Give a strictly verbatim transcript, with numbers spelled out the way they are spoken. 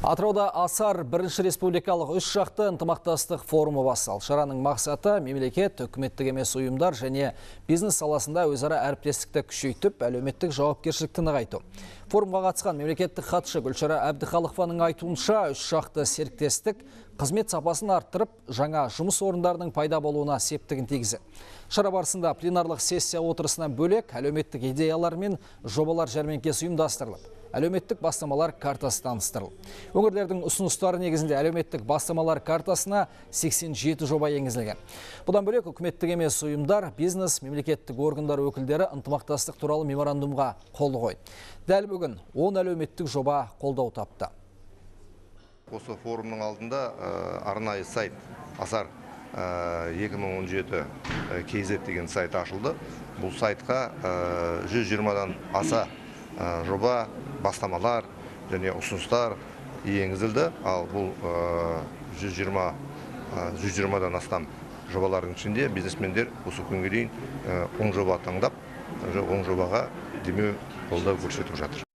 Атырауда Асар бірінші республикалық үш жақты ынтымақтастық форумы басталды. Шараның мақсаты мемлекет, үкіметтік емес ұйымдар және бизнес саласында өзара әріптестікті күшейтіп, әлеуметтік жауапкершілікті нығайту. Форумға қатысқан мемлекеттік хатшы Гүлшара Әбдіхалықованың айтуынша, үш жақты серіктестік қызмет сапасын арттырып, жаңа жұмыс орындарының пайда болуына септігін тигізді. Шара барысында пленарлық сессия отырысынан бөлек әлеуметтік идеялар мен жобалар жәрмеңкесі ұйымдастырылып, әлеуметтік бастамалар картасы таныстырылды. Өңірлердің ұсыныстары негізінде әлеуметтік бастамалар картасына сексен жеті жоба енгізілген. Бұдан бөлек үкіметтік емес ұйымдар, бизнес, мемлекеттік органдар өкілдері ынтымақтастық туралы меморандумға қол қойды. Дәл бүгін он әлеуметтік жоба қолдау тапты. Осы форумның алдында арнайы сайт Асар екі мың он жеті кз деген сайт ашылды. Бұл сайтқа жүз жиырмадан аса жоба, бастамалар және ұсыныстар енгізілді. Ал бұл жүз жиырмадан астам жобалардың ішінде бизнесмендер осы күнге дейін он жоба таңдап, он жобаға демеу қолдау көрсетіп жатыр.